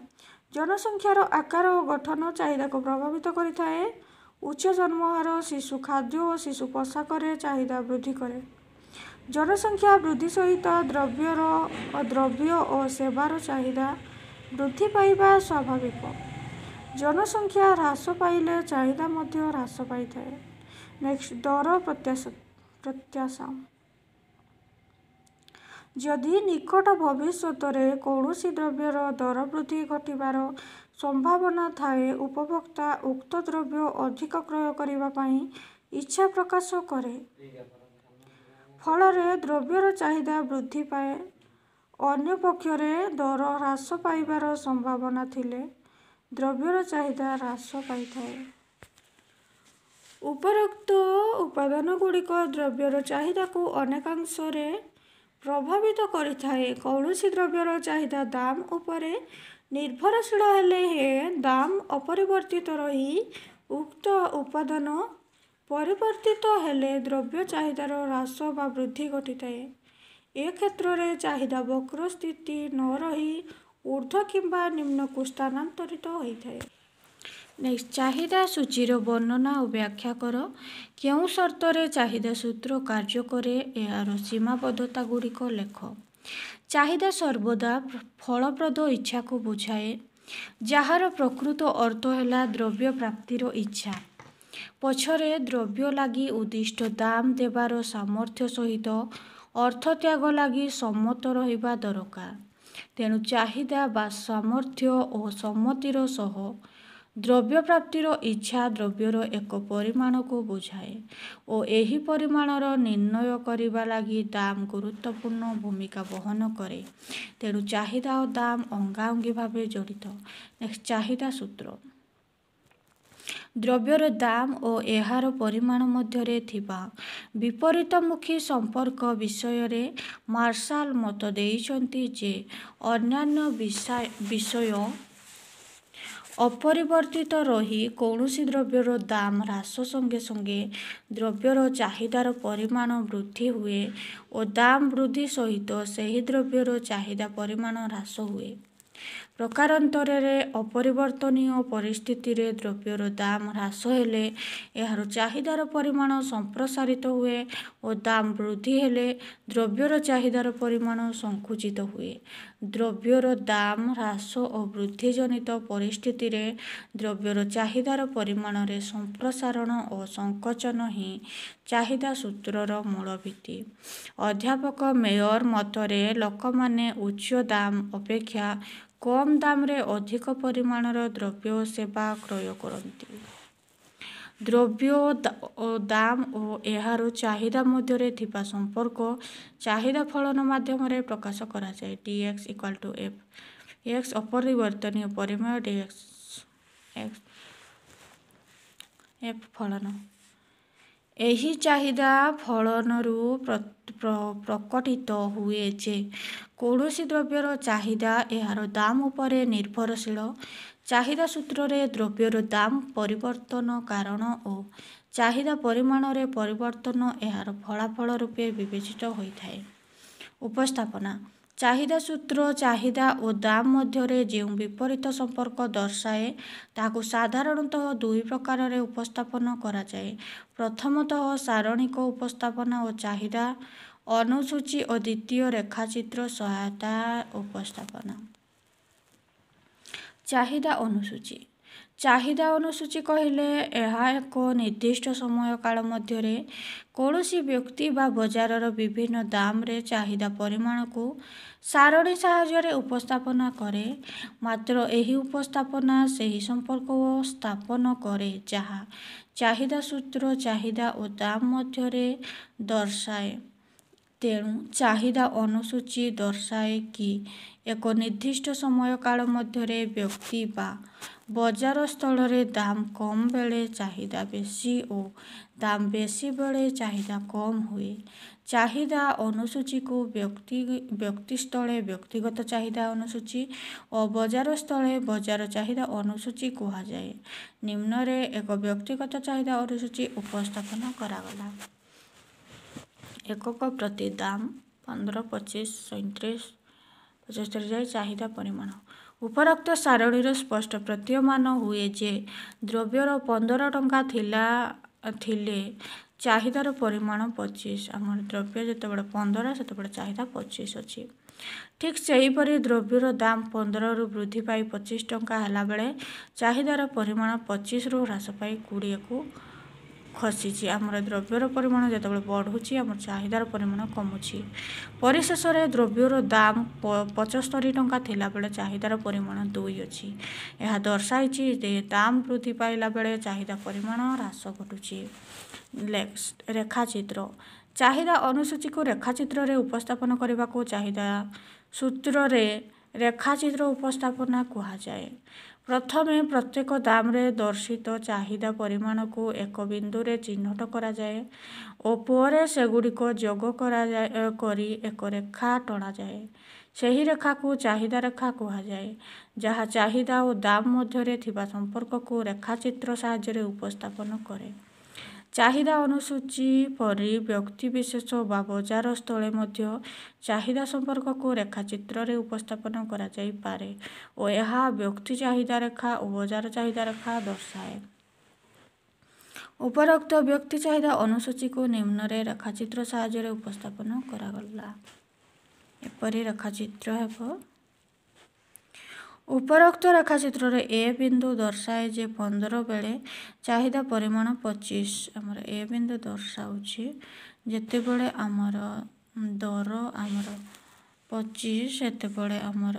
ଜନସଂଖ୍ୟାର ଆକାର ଓ ଗଠନ ଚାହିଦାକୁ ପ୍ରଭାବିତ କରିଥାଏ। ଉଚ୍ଚ ଜନ୍ମହାର ଶିଶୁ ଖାଦ୍ୟ ଓ ଶିଶୁ ପୋଷାକରେ ଚାହିଦା ବୃଦ୍ଧି କରେ। ଜନସଂଖ୍ୟା ବୃଦ୍ଧି ସହିତ ଦ୍ରବ୍ୟର ଦ୍ରବ୍ୟ ଓ ସେବାର ଚାହିଦା ବୃଦ୍ଧି ପାଇବା ସ୍ୱାଭାବିକ। ଜନସଂଖ୍ୟା ହ୍ରାସ ପାଇଲେ ଚାହିଦା ମଧ୍ୟ ହ୍ରାସ ପାଇଥାଏ। ନେକ୍ସଟ, ଦର ପ୍ରତ୍ୟାଶା। ଯଦି ନିକଟ ଭବିଷ୍ୟତରେ କୌଣସି ଦ୍ରବ୍ୟର ଦର ବୃଦ୍ଧି ଘଟିବାର ସମ୍ଭାବନା ଥାଏ, ଉପଭୋକ୍ତା ଉକ୍ତ ଦ୍ରବ୍ୟ ଅଧିକ କ୍ରୟ କରିବା ପାଇଁ ଇଚ୍ଛା ପ୍ରକାଶ କରେ। ଫଳରେ ଦ୍ରବ୍ୟର ଚାହିଦା ବୃଦ୍ଧି ପାଏ। ଅନ୍ୟପକ୍ଷରେ ଦର ହ୍ରାସ ପାଇବାର ସମ୍ଭାବନା ଥିଲେ ଦ୍ରବ୍ୟର ଚାହିଦା ହ୍ରାସ ପାଇଥାଏ। ଉପରୋକ୍ତ ଉପାଦାନଗୁଡ଼ିକ ଦ୍ରବ୍ୟର ଚାହିଦାକୁ ଅନେକାଂଶରେ ପ୍ରଭାବିତ କରିଥାଏ। କୌଣସି ଦ୍ରବ୍ୟର ଚାହିଦା ଦାମ ଉପରେ ନିର୍ଭରଶୀଳ ହେଲେ ହେଁ ଦାମ ଅପରିବର୍ତ୍ତିତ ରହି ଉକ୍ତ ଉପାଦାନ ପରିବର୍ତ୍ତିତ ହେଲେ ଦ୍ରବ୍ୟ ଚାହିଦାର ହ୍ରାସ ବା ବୃଦ୍ଧି ଘଟିଥାଏ। ଏ କ୍ଷେତ୍ରରେ ଚାହିଦା ବକ୍ର ସ୍ଥିତି ନ ରହି ଊର୍ଦ୍ଧ୍ୱ କିମ୍ବା ନିମ୍ନକୁ ସ୍ଥାନାନ୍ତରିତ ହୋଇଥାଏ। ନେକ୍ସଟ, ଚାହିଦା ସୂଚୀର ବର୍ଣ୍ଣନା ଓ ବ୍ୟାଖ୍ୟା କର। କେଉଁ ସର୍ତ୍ତରେ ଚାହିଦା ସୂତ୍ର କାର୍ଯ୍ୟ କରେ? ଏହାର ସୀମାବଦ୍ଧତା ଗୁଡ଼ିକ ଲେଖ। ଚାହିଦା ସର୍ବଦା ଫଳପ୍ରଦ ଇଚ୍ଛାକୁ ବୁଝାଏ, ଯାହାର ପ୍ରକୃତ ଅର୍ଥ ହେଲା ଦ୍ରବ୍ୟ ପ୍ରାପ୍ତିର ଇଚ୍ଛା। ପଛରେ ଦ୍ରବ୍ୟ ଲାଗି ଉଦ୍ଦିଷ୍ଟ ଦାମ ଦେବାର ସାମର୍ଥ୍ୟ ସହିତ ଅର୍ଥତ୍ୟାଗ ଲାଗି ସମ୍ମତ ରହିବା ଦରକାର। ତେଣୁ ଚାହିଦା ବା ସାମର୍ଥ୍ୟ ଓ ସମ୍ମତିର ସହ ଦ୍ରବ୍ୟ ପ୍ରାପ୍ତିର ଇଚ୍ଛା ଦ୍ରବ୍ୟର ଏକ ପରିମାଣକୁ ବୁଝାଏ ଓ ଏହି ପରିମାଣର ନିର୍ଣ୍ଣୟ କରିବା ଲାଗି ଦାମ ଗୁରୁତ୍ୱପୂର୍ଣ୍ଣ ଭୂମିକା ବହନ କରେ। ତେଣୁ ଚାହିଦା ଓ ଦାମ ଅଙ୍ଗାଅଙ୍ଗି ଭାବେ ଜଡ଼ିତ। ନେକ୍ସଟ, ଚାହିଦା ସୂତ୍ର। ଦ୍ରବ୍ୟର ଦାମ ଓ ଏହାର ପରିମାଣ ମଧ୍ୟରେ ଥିବା ବିପରୀତମୁଖୀ ସମ୍ପର୍କ ବିଷୟରେ ମାର୍ଶାଲ ମତ ଦେଇଛନ୍ତି ଯେ ଅନ୍ୟାନ୍ୟ ବିଷୟ ଅପରିବର୍ତ୍ତିତ ରହି କୌଣସି ଦ୍ରବ୍ୟର ଦାମ ହ୍ରାସ ସଙ୍ଗେ ସଙ୍ଗେ ଦ୍ରବ୍ୟର ଚାହିଦାର ପରିମାଣ ବୃଦ୍ଧି ହୁଏ ଓ ଦାମ ବୃଦ୍ଧି ସହିତ ସେହି ଦ୍ରବ୍ୟର ଚାହିଦା ପରିମାଣ ହ୍ରାସ ହୁଏ। ପ୍ରକାରାନ୍ତରେ ଅପରିବର୍ତ୍ତନୀୟ ପରିସ୍ଥିତିରେ ଦ୍ରବ୍ୟର ଦାମ ହ୍ରାସ ହେଲେ ଏହାର ଚାହିଦାର ପରିମାଣ ସମ୍ପ୍ରସାରିତ ହୁଏ ଓ ଦାମ ବୃଦ୍ଧି ହେଲେ ଦ୍ରବ୍ୟର ଚାହିଦାର ପରିମାଣ ସଙ୍କୁଚିତ ହୁଏ। ଦ୍ରବ୍ୟର ଦାମ ହ୍ରାସ ଓ ବୃଦ୍ଧିଜନିତ ପରିସ୍ଥିତିରେ ଦ୍ରବ୍ୟର ଚାହିଦାର ପରିମାଣରେ ସମ୍ପ୍ରସାରଣ ଓ ସଙ୍କୋଚନ ହିଁ ଚାହିଦା ସୂତ୍ରର ମୂଳ ଭିତ୍ତି। ଅଧ୍ୟାପକ ମେୟର ମତରେ ଲୋକମାନେ ଉଚ୍ଚ ଦାମ ଅପେକ୍ଷା କମ୍ ଦାମରେ ଅଧିକ ପରିମାଣର ଦ୍ରବ୍ୟ ଓ ସେବା କ୍ରୟ କରନ୍ତି। ଦ୍ରବ୍ୟ ଦାମ ଓ ଏହାର ଚାହିଦା ମଧ୍ୟରେ ଥିବା ସମ୍ପର୍କ ଚାହିଦା ଫଳନ ମାଧ୍ୟମରେ ପ୍ରକାଶ କରାଯାଏ। D X equal to F X ଅପରିବର୍ତ୍ତନୀୟ ପରିମେୟ, ଡି ଏକ୍ସ ଏକ୍ସ ଏଫ୍ ଫଳନ। ଏହି ଚାହିଦା ଫଳନରୁ ପ୍ରକଟିତ ହୁଏ ଯେ କୌଣସି ଦ୍ରବ୍ୟର ଚାହିଦା ଏହାର ଦାମ ଉପରେ ନିର୍ଭରଶୀଳ। ଚାହିଦା ସୂତ୍ରରେ ଦ୍ରବ୍ୟର ଦାମ ପରିବର୍ତ୍ତନ କାରଣ ଓ ଚାହିଦା ପରିମାଣରେ ପରିବର୍ତ୍ତନ ଏହାର ଫଳାଫଳ ରୂପେ ବିବେଚିତ ହୋଇଥାଏ। ଉପସ୍ଥାପନା। ଚାହିଦା ସୂତ୍ର ଚାହିଦା ଓ ଦାମ ମଧ୍ୟରେ ଯେଉଁ ବିପରୀତ ସମ୍ପର୍କ ଦର୍ଶାଏ, ତାହାକୁ ସାଧାରଣତଃ ଦୁଇ ପ୍ରକାରରେ ଉପସ୍ଥାପନ କରାଯାଏ। ପ୍ରଥମତଃ ସାରଣିକ ଉପସ୍ଥାପନା ଓ ଚାହିଦା ଅନୁସୂଚୀ ଓ ଦ୍ୱିତୀୟ ରେଖାଚିତ୍ର ସହାୟତା ଉପସ୍ଥାପନା। ଚାହିଦା ଅନୁସୂଚୀ। ଚାହିଦା ଅନୁସୂଚୀ କହିଲେ ଏହା ଏକ ନିର୍ଦ୍ଦିଷ୍ଟ ସମୟକାଳ ମଧ୍ୟରେ କୌଣସି ବ୍ୟକ୍ତି ବା ବଜାରର ବିଭିନ୍ନ ଦାମରେ ଚାହିଦା ପରିମାଣକୁ ସାରଣୀ ସାହାଯ୍ୟରେ ଉପସ୍ଥାପନା କରେ। ମାତ୍ର ଏହି ଉପସ୍ଥାପନା ସେହି ସମ୍ପର୍କ ସ୍ଥାପନ କରେ ଯାହା ଚାହିଦା ସୂତ୍ର ଚାହିଦା ଓ ଦାମ ମଧ୍ୟରେ ଦର୍ଶାଏ। ତେଣୁ ଚାହିଦା ଅନୁସୂଚୀ ଦର୍ଶାଏ କି ଏକ ନିର୍ଦ୍ଦିଷ୍ଟ ସମୟକାଳ ମଧ୍ୟରେ ବ୍ୟକ୍ତି ବା ବଜାର ସ୍ଥଳରେ ଦାମ କମ୍ ବେଳେ ଚାହିଦା ବେଶୀ ଓ ଦାମ ବେଶୀ ବେଳେ ଚାହିଦା କମ୍ ହୁଏ। ଚାହିଦା ଅନୁସୂଚୀକୁ ବ୍ୟକ୍ତି ବ୍ୟକ୍ତି ସ୍ଥଳେ ବ୍ୟକ୍ତିଗତ ଚାହିଦା ଅନୁସୂଚୀ ଓ ବଜାର ସ୍ଥଳେ ବଜାର ଚାହିଦା ଅନୁସୂଚୀ କୁହାଯାଏ। ନିମ୍ନରେ ଏକ ବ୍ୟକ୍ତିଗତ ଚାହିଦା ଅନୁସୂଚୀ ଉପସ୍ଥାପନ କରାଗଲା। ଏକକ ପ୍ରତି ଦାମ ପନ୍ଦର, ପଚିଶ, ସଇଁତିରିଶ, ପଚସ୍ତରୀ ଯାଏ ଚାହିଦା ପରିମାଣ। ଉପରୋକ୍ତ ସାରଣୀରୁ ସ୍ପଷ୍ଟ ପ୍ରତୀୟମାନ ହୁଏ ଯେ ଦ୍ରବ୍ୟର ପନ୍ଦର ଟଙ୍କା ଥିଲା ଥିଲେ ଚାହିଦାର ପରିମାଣ ପଚିଶ। ଆମର ଦ୍ରବ୍ୟ ଯେତେବେଳେ ପନ୍ଦର, ସେତେବେଳେ ଚାହିଦା ପଚିଶ ଅଛି। ଠିକ୍ ସେହିପରି ଦ୍ରବ୍ୟର ଦାମ ପନ୍ଦରରୁ ବୃଦ୍ଧି ପାଇ ପଚିଶ ଟଙ୍କା ହେଲାବେଳେ ଚାହିଦାର ପରିମାଣ ପଚିଶରୁ ହ୍ରାସ ପାଇ କୋଡ଼ିଏକୁ ଖସିଛି। ଆମର ଦ୍ରବ୍ୟର ପରିମାଣ ଯେତେବେଳେ ବଢ଼ୁଛି, ଆମର ଚାହିଦାର ପରିମାଣ କମୁଛି। ପରିଶେଷରେ ଦ୍ରବ୍ୟର ଦାମ ପଚସ୍ତରୀ ଟଙ୍କା ଥିଲାବେଳେ ଚାହିଦାର ପରିମାଣ ଦୁଇ ଅଛି। ଏହା ଦର୍ଶାଇଛି ଯେ ଦାମ ବୃଦ୍ଧି ପାଇଲା ବେଳେ ଚାହିଦା ପରିମାଣ ହ୍ରାସ ଘଟୁଛି। ନେକ୍ସଟ, ରେଖାଚିତ୍ର। ଚାହିଦା ଅନୁସୂଚୀକୁ ରେଖାଚିତ୍ରରେ ଉପସ୍ଥାପନ କରିବାକୁ ଚାହିଦା ସୂତ୍ରରେ ରେଖାଚିତ୍ର ଉପସ୍ଥାପନା କୁହାଯାଏ। ପ୍ରଥମେ ପ୍ରତ୍ୟେକ ଦାମରେ ଦର୍ଶିତ ଚାହିଦା ପରିମାଣକୁ ଏକ ବିନ୍ଦୁରେ ଚିହ୍ନଟ କରାଯାଏ ଓ ପରେ ସେଗୁଡ଼ିକ ଯୋଗ କରାଯାଏ କରି ଏକ ରେଖା ଟଣାଯାଏ। ସେହି ରେଖାକୁ ଚାହିଦା ରେଖା କୁହାଯାଏ, ଯାହା ଚାହିଦା ଓ ଦାମ ମଧ୍ୟରେ ଥିବା ସମ୍ପର୍କକୁ ରେଖାଚିତ୍ର ସାହାଯ୍ୟରେ ଉପସ୍ଥାପନ କରେ। ଚାହିଦା ଅନୁସୂଚୀ ପରି ବ୍ୟକ୍ତିବିଶେଷ ବା ବଜାର ସ୍ଥଳେ ମଧ୍ୟ ଚାହିଦା ସମ୍ପର୍କକୁ ରେଖାଚିତ୍ରରେ ଉପସ୍ଥାପନ କରାଯାଇପାରେ ଓ ଏହା ବ୍ୟକ୍ତି ଚାହିଦା ରେଖା ଓ ବଜାର ଚାହିଦା ରେଖା ଦର୍ଶାଏ। ଉପରୋକ୍ତ ବ୍ୟକ୍ତି ଚାହିଦା ଅନୁସୂଚୀକୁ ନିମ୍ନରେ ରେଖାଚିତ୍ର ସାହାଯ୍ୟରେ ଉପସ୍ଥାପନ କରାଗଲା। ଏପରି ରେଖାଚିତ୍ର ହେବ। ଉପରୋକ୍ତ ରେଖାଚିତ୍ରରେ ଏ ବିନ୍ଦୁ ଦର୍ଶାଏ ଯେ ପନ୍ଦର ବେଳେ ଚାହିଦା ପରିମାଣ ପଚିଶ। ଆମର ଏ ବିନ୍ଦୁ ଦର୍ଶାଉଛି ଯେତେବେଳେ ଆମର ଦର ଆମର ପଚିଶ, ସେତେବେଳେ ଆମର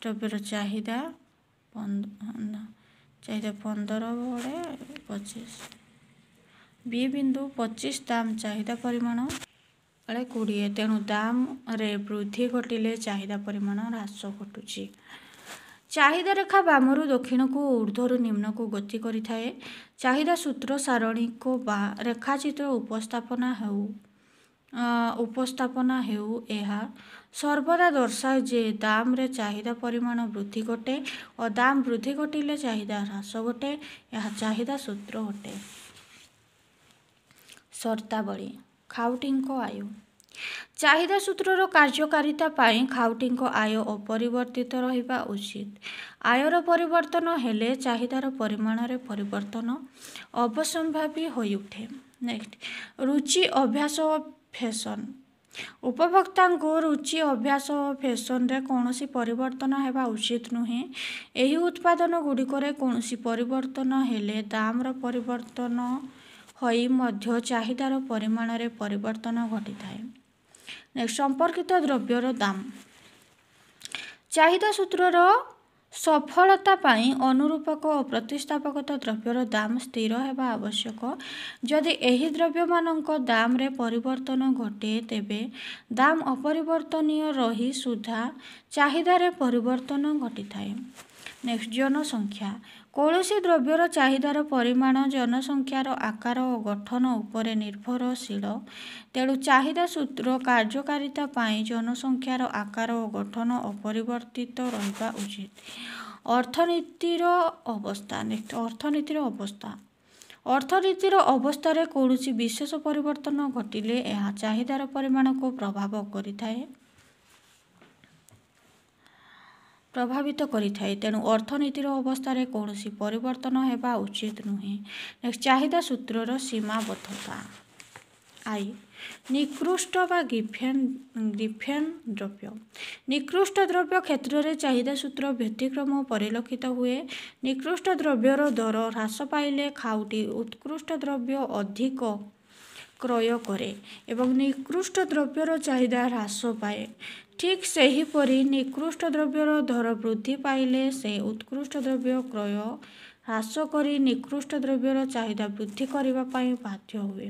ଦ୍ରବ୍ୟର ଚାହିଦା ଚାହିଦା ପନ୍ଦର ବେଳେ ପଚିଶ। ବି ବିନ୍ଦୁ ପଚିଶ ଦାମ ଚାହିଦା ପରିମାଣ ବେଳେ କୋଡ଼ିଏ। ତେଣୁ ଦାମରେ ବୃଦ୍ଧି ଘଟିଲେ ଚାହିଦା ପରିମାଣ ହ୍ରାସ ଘଟୁଛି। ଚାହିଦା ରେଖା ବାମରୁ ଦକ୍ଷିଣକୁ ଓ ଉର୍ଦ୍ଧ୍ୱରୁ ନିମ୍ନକୁ ଗତି କରିଥାଏ। ଚାହିଦା ସୂତ୍ର ସାରଣୀକ ବା ରେଖାଚିତ୍ର ଉପସ୍ଥାପନା ହେଉ ଉପସ୍ଥାପନା ହେଉ ଏହା ସର୍ବଦା ଦର୍ଶାଏ ଯେ ଦାମରେ ଚାହିଦା ପରିମାଣ ବୃଦ୍ଧି ଘଟେ ଓ ଦାମ ବୃଦ୍ଧି ଘଟିଲେ ଚାହିଦା ହ୍ରାସ ଘଟେ। ଏହା ଚାହିଦା ସୂତ୍ର ଅଟେ। ସର୍ତ୍ତାବଳୀ। ଖାଉଟିଙ୍କ ଆୟ। ଚାହିଦା ସୂତ୍ରର କାର୍ଯ୍ୟକାରିତା ପାଇଁ ଖାଉଟିଙ୍କ ଆୟ ଅପରିବର୍ତ୍ତିତ ରହିବା ଉଚିତ। ଆୟର ପରିବର୍ତ୍ତନ ହେଲେ ଚାହିଦାର ପରିମାଣରେ ପରିବର୍ତ୍ତନ ଅବଶ୍ୟମ୍ଭାବୀ ହୋଇଉଠେ। ନେକ୍ସଟ, ରୁଚି, ଅଭ୍ୟାସ ଓ ଫ୍ୟାସନ୍। ଉପଭୋକ୍ତାଙ୍କୁ ରୁଚି, ଅଭ୍ୟାସ ଓ ଫ୍ୟାସନରେ କୌଣସି ପରିବର୍ତ୍ତନ ହେବା ଉଚିତ ନୁହେଁ। ଏହି ଉତ୍ପାଦନ ଗୁଡ଼ିକରେ କୌଣସି ପରିବର୍ତ୍ତନ ହେଲେ ଦାମର ପରିବର୍ତ୍ତନ ହୋଇ ମଧ୍ୟ ଚାହିଦାର ପରିମାଣରେ ପରିବର୍ତ୍ତନ ଘଟିଥାଏ। ନେକ୍ସଟ, ସମ୍ପର୍କିତ ଦ୍ରବ୍ୟର ଦାମ। ଚାହିଦା ସୂତ୍ରର ସଫଳତା ପାଇଁ ଅନୁରୂପକ ଓ ପ୍ରତିସ୍ଥାପକ ଦ୍ରବ୍ୟର ଦାମ ସ୍ଥିର ହେବା ଆବଶ୍ୟକ। ଯଦି ଏହି ଦ୍ରବ୍ୟମାନଙ୍କ ଦାମରେ ପରିବର୍ତ୍ତନ ଘଟେ, ତେବେ ଦାମ ଅପରିବର୍ତ୍ତନୀୟ ରହି ସୁଦ୍ଧା ଚାହିଦାରେ ପରିବର୍ତ୍ତନ ଘଟିଥାଏ। ନେକ୍ସଟ, ଜନସଂଖ୍ୟା। କୌଣସି ଦ୍ରବ୍ୟର ଚାହିଦାର ପରିମାଣ ଜନସଂଖ୍ୟାର ଆକାର ଓ ଗଠନ ଉପରେ ନିର୍ଭରଶୀଳ। ତେଣୁ ଚାହିଦା ସୂତ୍ର କାର୍ଯ୍ୟକାରିତା ପାଇଁ ଜନସଂଖ୍ୟାର ଆକାର ଓ ଗଠନ ଅପରିବର୍ତ୍ତିତ ରହିବା ଉଚିତ। ଅର୍ଥନୀତିର ଅବସ୍ଥା। ନେକ୍ସଟ, ଅର୍ଥନୀତିର ଅବସ୍ଥା। ଅର୍ଥନୀତିର ଅବସ୍ଥାରେ କୌଣସି ବିଶେଷ ପରିବର୍ତ୍ତନ ଘଟିଲେ ଏହା ଚାହିଦାର ପରିମାଣକୁ ପ୍ରଭାବ କରିଥାଏ ପ୍ରଭାବିତ କରିଥାଏ। ତେଣୁ ଅର୍ଥନୀତିର ଅବସ୍ଥାରେ କୌଣସି ପରିବର୍ତ୍ତନ ହେବା ଉଚିତ ନୁହେଁ। ନେକ୍ସଟ, ଚାହିଦା ସୂତ୍ରର ସୀମାବଦ୍ଧତା। I, ନିକୃଷ୍ଟ ବା ଗିଫେନ୍ ଗିଫେନ୍ ଦ୍ରବ୍ୟ। ନିକୃଷ୍ଟ ଦ୍ରବ୍ୟ କ୍ଷେତ୍ରରେ ଚାହିଦା ସୂତ୍ର ବ୍ୟତିକ୍ରମ ପରିଲକ୍ଷିତ ହୁଏ। ନିକୃଷ୍ଟ ଦ୍ରବ୍ୟର ଦର ହ୍ରାସ ପାଇଲେ ଖାଉଟି ଉତ୍କୃଷ୍ଟ ଦ୍ରବ୍ୟ ଅଧିକ କ୍ରୟ କରେ ଏବଂ ନିକୃଷ୍ଟ ଦ୍ରବ୍ୟର ଚାହିଦା ହ୍ରାସ ପାଏ। ଠିକ୍ ସେହିପରି ନିକୃଷ୍ଟ ଦ୍ରବ୍ୟର ଦର ବୃଦ୍ଧି ପାଇଲେ ସେ ଉତ୍କୃଷ୍ଟ ଦ୍ରବ୍ୟ କ୍ରୟ ହ୍ରାସ କରି ନିକୃଷ୍ଟ ଦ୍ରବ୍ୟର ଚାହିଦା ବୃଦ୍ଧି କରିବା ପାଇଁ ବାଧ୍ୟ ହୁଏ।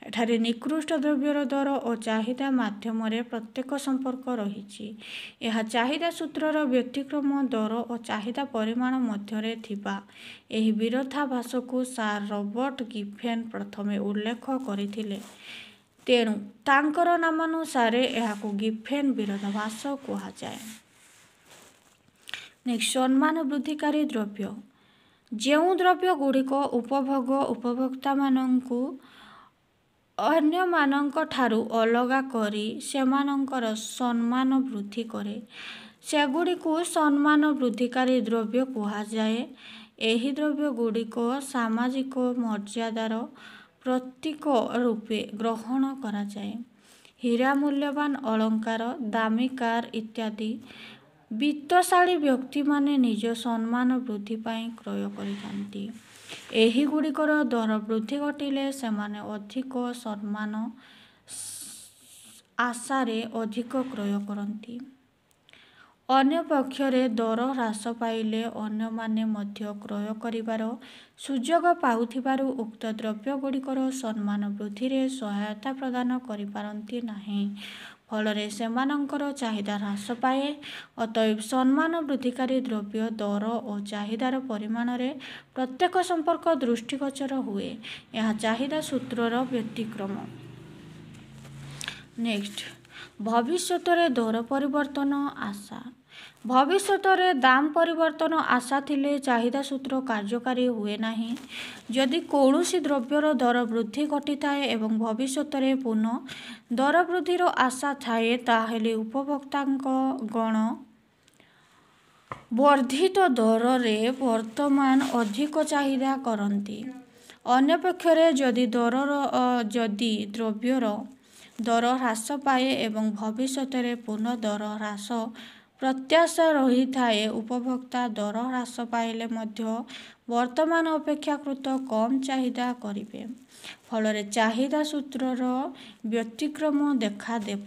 ଏଠାରେ ନିକୃଷ୍ଟ ଦ୍ରବ୍ୟର ଦର ଓ ଚାହିଦା ମାଧ୍ୟମରେ ପ୍ରତ୍ୟକ୍ଷ ସମ୍ପର୍କ ରହିଛି। ଏହା ଚାହିଦା ସୂତ୍ରର ବ୍ୟତିକ୍ରମ। ଦର ଓ ଚାହିଦା ପରିମାଣ ମଧ୍ୟରେ ଥିବା ଏହି ବିରୋଧାଭାସକୁ ସାର୍ ରବର୍ଟ ଗିଫେନ୍ ପ୍ରଥମେ ଉଲ୍ଲେଖ କରିଥିଲେ। ତେଣୁ ତାଙ୍କର ନାମାନୁସାରେ ଏହାକୁ ଗିଫେନ୍ ବିରୋଧାଭାସ କୁହାଯାଏ। ନେକ୍ସଟ, ସମ୍ମାନ ବୃଦ୍ଧିକାରୀ ଦ୍ରବ୍ୟ। ଯେଉଁ ଦ୍ରବ୍ୟଗୁଡ଼ିକ ଉପଭୋଗ ଉପଭୋକ୍ତାମାନଙ୍କୁ ଅନ୍ୟମାନଙ୍କଠାରୁ ଅଲଗା କରି ସେମାନଙ୍କର ସମ୍ମାନ ବୃଦ୍ଧି କରେ, ସେଗୁଡ଼ିକୁ ସମ୍ମାନ ବୃଦ୍ଧିକାରୀ ଦ୍ରବ୍ୟ କୁହାଯାଏ। ଏହି ଦ୍ରବ୍ୟଗୁଡ଼ିକ ସାମାଜିକ ମର୍ଯ୍ୟାଦାର ପ୍ରତୀକ ରୂପେ ଗ୍ରହଣ କରାଯାଏ। ହୀରା, ମୂଲ୍ୟବାନ ଅଳଙ୍କାର, ଦାମୀ କାର୍ ଇତ୍ୟାଦି ବିତ୍ତଶାଳୀ ବ୍ୟକ୍ତିମାନେ ନିଜ ସମ୍ମାନ ବୃଦ୍ଧି ପାଇଁ କ୍ରୟ କରିଥାନ୍ତି। ଏହିଗୁଡ଼ିକର ଦର ବୃଦ୍ଧି ଘଟିଲେ ସେମାନେ ଅଧିକ ସମ୍ମାନ ଆଶାରେ ଅଧିକ କ୍ରୟ କରନ୍ତି। ଅନ୍ୟପକ୍ଷରେ ଦର ହ୍ରାସ ପାଇଲେ ଅନ୍ୟମାନେ ମଧ୍ୟ କ୍ରୟ କରିବାର ସୁଯୋଗ ପାଉଥିବାରୁ ଉକ୍ତ ଦ୍ରବ୍ୟଗୁଡ଼ିକର ସମ୍ମାନ ବୃଦ୍ଧିରେ ସହାୟତା ପ୍ରଦାନ କରିପାରନ୍ତି ନାହିଁ। ଫଳରେ ସେମାନଙ୍କର ଚାହିଦା ହ୍ରାସ ପାଏ। ଅତଏବ ସମ୍ମାନ ବୃଦ୍ଧିକାରୀ ଦ୍ରବ୍ୟ ଦର ଓ ଚାହିଦାର ପରିମାଣରେ ପ୍ରତ୍ୟକ୍ଷ ସମ୍ପର୍କ ଦୃଷ୍ଟିଗୋଚର ହୁଏ। ଏହା ଚାହିଦା ସୂତ୍ରର ବ୍ୟତିକ୍ରମ। ନେକ୍ସଟ, ଭବିଷ୍ୟତରେ ଦର ପରିବର୍ତ୍ତନ ଆଶା। ଭବିଷ୍ୟତରେ ଦାମ ପରିବର୍ତ୍ତନ ଆଶା ଥିଲେ ଚାହିଦା ସୂତ୍ର କାର୍ଯ୍ୟକାରୀ ହୁଏ ନାହିଁ। ଯଦି କୌଣସି ଦ୍ରବ୍ୟର ଦର ବୃଦ୍ଧି ଘଟିଥାଏ ଏବଂ ଭବିଷ୍ୟତରେ ପୁନଃ ଦର ବୃଦ୍ଧିର ଆଶା ଥାଏ, ତାହେଲେ ଉପଭୋକ୍ତାଙ୍କ ଗଣ ବର୍ଦ୍ଧିତ ଦରରେ ବର୍ତ୍ତମାନ ଅଧିକ ଚାହିଦା କରନ୍ତି। ଅନ୍ୟପକ୍ଷରେ ଯଦି ଦରର ଯଦି ଦ୍ରବ୍ୟର ଦର ହ୍ରାସ ପାଏ ଏବଂ ଭବିଷ୍ୟତରେ ପୁନଃ ଦର ହ୍ରାସ ପ୍ରତ୍ୟାଶା ରହିଥାଏ, ଉପଭୋକ୍ତା ଦର ହ୍ରାସ ପାଇଲେ ମଧ୍ୟ ବର୍ତ୍ତମାନ ଅପେକ୍ଷାକୃତ କମ୍ ଚାହିଦା କରିବେ। ଫଳରେ ଚାହିଦା ସୂତ୍ରର ବ୍ୟତିକ୍ରମ ଦେଖାଦେବ।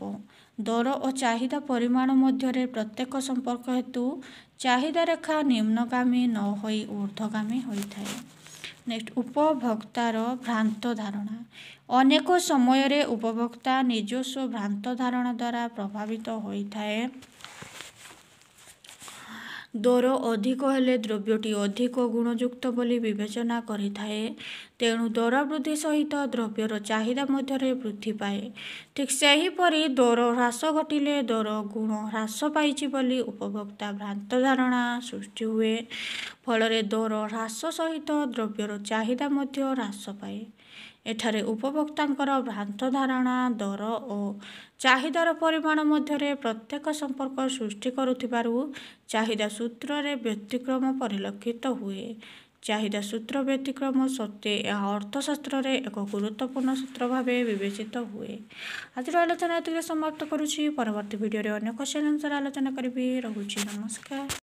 ଦର ଓ ଚାହିଦା ପରିମାଣ ମଧ୍ୟରେ ପ୍ରତ୍ୟକ୍ଷ ସମ୍ପର୍କ ହେତୁ ଚାହିଦା ରେଖା ନିମ୍ନଗାମୀ ନ ହୋଇ ଊର୍ଦ୍ଧ୍ୱଗାମୀ ହୋଇଥାଏ। ନେକ୍ସଟ, ଉପଭୋକ୍ତାର ଭ୍ରାନ୍ତ ଧାରଣା। ଅନେକ ସମୟରେ ଉପଭୋକ୍ତା ନିଜସ୍ୱ ଭ୍ରାନ୍ତ ଧାରଣା ଦ୍ୱାରା ପ୍ରଭାବିତ ହୋଇଥାଏ। ଦର ଅଧିକ ହେଲେ ଦ୍ରବ୍ୟଟି ଅଧିକ ଗୁଣଯୁକ୍ତ ବୋଲି ବିବେଚନା କରିଥାଏ। ତେଣୁ ଦର ବୃଦ୍ଧି ସହିତ ଦ୍ରବ୍ୟର ଚାହିଦା ମଧ୍ୟରେ ବୃଦ୍ଧି ପାଏ। ଠିକ୍ ସେହିପରି ଦର ହ୍ରାସ ଘଟିଲେ ଦର ଗୁଣ ହ୍ରାସ ପାଇଛି ବୋଲି ଉପଭୋକ୍ତା ଭ୍ରାନ୍ତ ଧାରଣା ସୃଷ୍ଟି ହୁଏ। ଫଳରେ ଦର ହ୍ରାସ ସହିତ ଦ୍ରବ୍ୟର ଚାହିଦା ମଧ୍ୟ ହ୍ରାସ ପାଏ। ଏଠାରେ ଉପଭୋକ୍ତାଙ୍କର ଭ୍ରାନ୍ତ ଧାରଣା ଦର ଓ ଚାହିଦାର ପରିମାଣ ମଧ୍ୟରେ ପ୍ରତ୍ୟକ୍ଷ ସମ୍ପର୍କ ସୃଷ୍ଟି କରୁଥିବାରୁ ଚାହିଦା ସୂତ୍ରରେ ବ୍ୟତିକ୍ରମ ପରିଲକ୍ଷିତ ହୁଏ। ଚାହିଦା ସୂତ୍ର ବ୍ୟତିକ୍ରମ ସତ୍ତ୍ୱେ ଏହା ଅର୍ଥଶାସ୍ତ୍ରରେ ଏକ ଗୁରୁତ୍ୱପୂର୍ଣ୍ଣ ସୂତ୍ର ଭାବେ ବିବେଚିତ ହୁଏ। ଆଜିର ଆଲୋଚନା ଏତିକିରେ ସମାପ୍ତ କରୁଛି। ପରବର୍ତ୍ତୀ ଭିଡ଼ିଓରେ ଅନ୍ୟ କ୍ୱେଶ୍ଚନ୍ ଆନ୍ସର୍ ଆଲୋଚନା କରିବି। ରହୁଛି, ନମସ୍କାର।